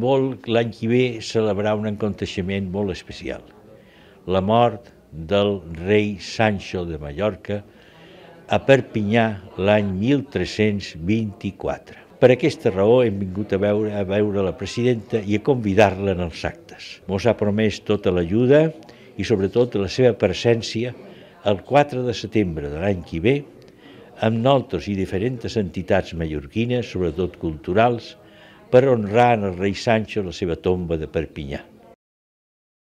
vol l'any que ve celebrar un aconteixement molt especial, la mort del rei Sancho de Mallorca a Perpinyà l'any 1324. Per aquesta raó hem vingut a veure la presidenta i a convidar-la en els actes. Mos ha promès tota l'ajuda i sobretot la seva presència el 4 de setembre de l'any que ve amb nosaltres i diferents entitats mallorquines, sobretot culturals, per honrar en el rei Sancho la seva tomba de Perpinyà.